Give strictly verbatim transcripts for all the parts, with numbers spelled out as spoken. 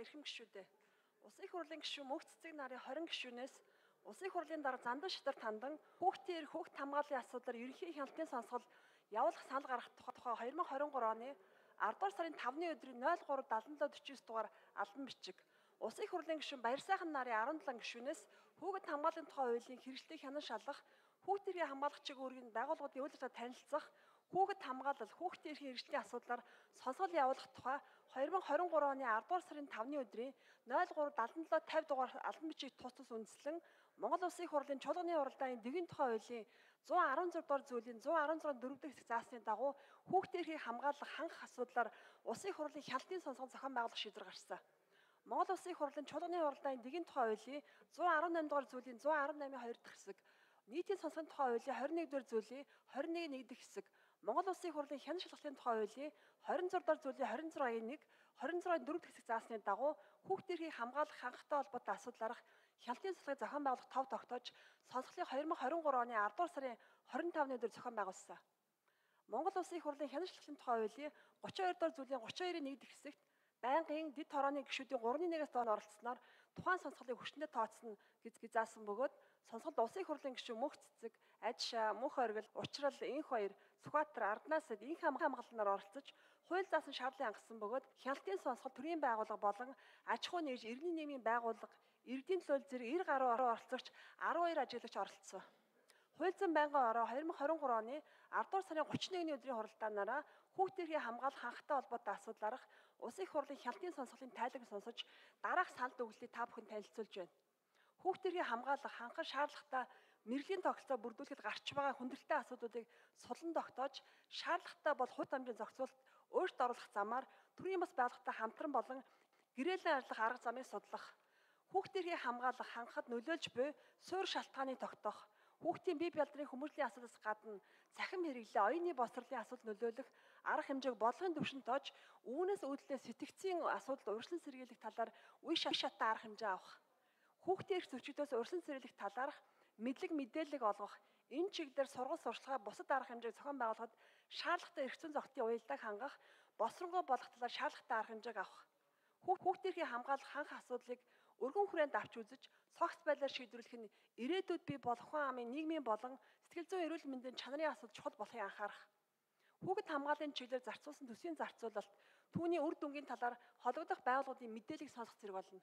эрхэм гишүүдээ. Улсын их хурлын гишүүн Мөнх цэцэг нарын хорин гишүүнээс Улсын их хурлын дараа Зандан Шидар тандан хүүхдийн эрх хүүхд хамгааллын асуудлаар ерөнхий хяналтын сонсгол явуулах санал гаргах тухай хоёр мың хорин гурав оны ардугаар сарын тавны өдрийн ноль гурав дадлан дөрвөн дөрвөн дугаар албан бичиг. Улсын их хурлын гишүүн Баярсайхан нарын арван долоо гишүүнээс хүүхэд хамгааллын тухай хуулийн хэрэгжлийг хянан шалгах, хүүхд эрхийн хамгаалагчийн үүргийн байгууллагуудын үйл ажиллагаа танилцах, хүүхэд хамгаалал, хүүхдийн эрхийн хэрэгжлийн асуудлаар сонсгол явуулах тухай хоёр мың хорин гурав оны ардугаар сарын тавны өдрийн ноль гурав дадлан долоо тавь дугаар албан бичиг тус тус үндэслэн Монгол Улсын их хурлын чуулганы уралдааны дэгийн тухай хуулийн зуун арван зургаадугаар дугаар зүйлийн зуун арван зургааны дөрөв дэх хэсэг заасны дагуу хүүхдийн эрхийн хамгаалах хангах асуудлаар Улсын их хурлын хяналтын сонсгол зохион байгуулах шийдвэр гаргасан. Монгол Улсын их хурлын чуулганы уралдааны дэгийн тухай хуулийн зуун арван намын дугаар зүйлийн зуун арван намын хоёр дахь хэсэг, нийтийн сонсгоны тухай хуулийн хорин нэг дугаар зүйлийн хорин нэг нэг дэх хэсэг, Монгол Улсын их хурлын хянан шалгалтын тухай хуулийн хорин зургаадугаар дугаар зүйлийн хорин зургааны нэг, хорин зургааны дөрөв дэх хэсэг заасны дагуу хүүхдийн эрхийн хамгаалах хангахтай холбоотой асуудлаарх хяналтын судалгааг зохион байгуулах тов тогтоож сонсголын хоёр мың хорин гурав оны ардугаар сарын хорин тавны өдөр зохион байгуулсан. Монгол Улсын их хурлын хянан шалгалтын тухай хуулийн гуравч хоёр дугаар зүйлийн гуравч хоёрын нэг дэх хэсэгт байнгын дэд хорооны гишүүдийн гурван нэгээс доод оролцсноор тухайн сонсголыг хүчнээ тооцно гэж заасан бөгөөд сонсголд Улсын их хурлын гишүүн Мөнх цэцэг, Ажишаа, Мөнх оргил, Учрал, Инх баяр, Сүхбаатар, Арднаасад инх хамгаалалнаар оролцож хууль заасан шаардлын хангасан бөгөөд хяналтын сонсгол төрийн байгууллага болон аж ахуй нэгж иргэний нийгмийн байгууллага, иргэдийн төлөөлөл зэрэг эр гаруй оролцогч арван хоёр ажиглагч оролцсон. Хууль зүйн байнгын ороо хоёр мың хорин гурав оны ардугаар сарын гуравч нэгний өдрийн хуралдаанаараа хүүхдийн эрхийн хамгаалах хангахтай холбоотой асуудлаарх Улсын их хурлын хяналтын сонсголын тайлбар сонсож дараах санал дүгнэлтийг та бүхэнд танилцуулж байна. Хүүхдийн эрхийн хамгаалах хангах шаардлагатай мэргэжлийн тогтолцоо бүрдүүлэхэд гарч байгаа хүндрэлтэй асуудлуудыг судлан тогтоож шаардлагатай бол хувь дамжийн зохицуулалт өөрчлөлт оруулах замаар төрийн бас байгууллагатай хамтран болон гэрээлийн ажиллах арга замыг судлах, хүүхдийн эрхийн хамгаалах хангахад нөлөөлж буй суурь шалтгааныг тогтоох, хүүхдийн бие бялдрын хүмүүжлийн асуудлаас гадна цахим хэрэглээ, оюуны боловсролын асуудал нөлөөлөх арга хэмжээг бодлогын түвшинд тоож, үүнээс үүдэлээ сэтгцийн асуудал урьдчилан сэргийлэх талаар үе шаттай арга хэмжээ авах, хүүхдийн эрх зөрчигдөөс урьдчилан сэргийлэх талаарх мэдлэг мэдээлэл олгох, энэ чиглэлээр сургууль сурталчилгаа бусад арга хэмжээг зохион байгуулахад шаардлагатай эрх зүйн зохицын уялдааг хангах, босронгой болох талаар шаардлагатай арга хэмжээг авах, хүүхдийн эрхийн хамгаалах хангах асуудлыг өргөн хүрээнд авч үзэж цогц байдлаар шийдвэрлэх нь ирээдүйд бий болох хүн амын нийгмийн болон сэтгэл зүйн эрүүл мэндийн чанарын асуудал чухал болохыг анхаарах. Хүүхэд хамгааллын чиглэлээр зарцуулсан төсвийн зарцуулалт түүний үр дүнгийн талаар холбогдох байгууллагын мэдээллийг сонсох зэрэг болно.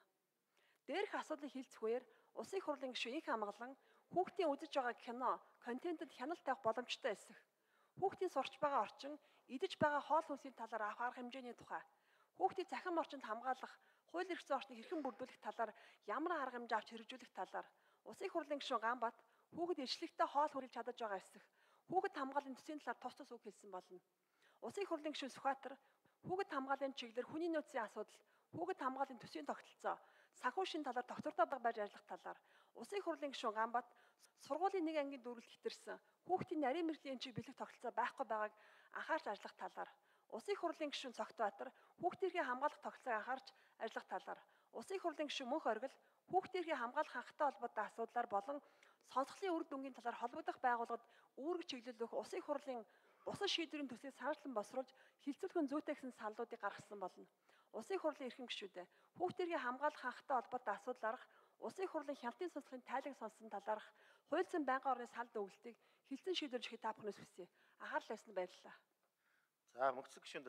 Дээрх асуудлыг хилцэх үеэр Улсын их хурлын гишүүн их хамгаалан хүүхдийн үзэж байгаа кино, контентэд хяналт тавих боломжтой эсэх, хүүхдийн сурч байгаа орчин, идэж байгаа хоол хүнсийн талаар авах арга хэмжээний тухай, хүүхдийн цахим орчинд хамгаалах, хууль эрх зүйн орчныг хэрхэн бүрдүүлэх талаар ямар арга хэмжээ авч хэрэгжүүлэх талаар Улсын их хурлын гишүүн Ганбат хүүхэд иршлэгтэй хоол хүрлж чадаж байгаа эсэх, хүүхэд хамгааллын төсвийн талаар тус тус үг хэлсэн болно. Улсын их хурлын гишүүн Сүхбаатар хүүхэд хамгааллын чиглэлээр хүний нөөцийн асуудал, хүүхэд хамгааллын төсвийн тогтолцоо, санхүү шин талаар доктортой байж ажиллах талаар Улсын их хурлын гишүүн Ганбат сургуулийн нэг ангийн дүүрэлт хэтэрсэн хүүхдийн нарийн мэргэжлийн эмчийг бэлэх тогтолцоо байхгүй байгааг анхаарч ажиллах талаар Улсын их хурлын гишүүн Цогтбаатар хүүхдийн эрхийн хамгаалах тогтолцоог анхаарч ажиллах талаар Улсын их хурлын гишүүн Мөнх оргил хүүхдийн эрхийн хамгаалах хангахтай холбоотой асуудлаар болон сонсголын үр дүнгийн талаар холбогдох байгууллагад үүрэг чиглүүлэх Улсын их хурлын бусад шийдвэрийн төсвийг санаачлан босруулж хилцүүлэх зүйтэй гэсэн саналуудыг гаргасан болно. Улсын их хурлын эрхэм гишүүдээ хүүхдийн эрхийн хамгаалах хангахтай холбоотой асуудлаарх Улсын их хурлын хяналтын сонсголын тайлбар сонсон талаарх хууль зүйн байнгын орны санал дүгнэлтийг хилцэн шийдвэрлэхийг та бүхнээс хүсье. Анхаарлаа тавьсанд баярлалаа. За мөнх цэцэг гишүүнд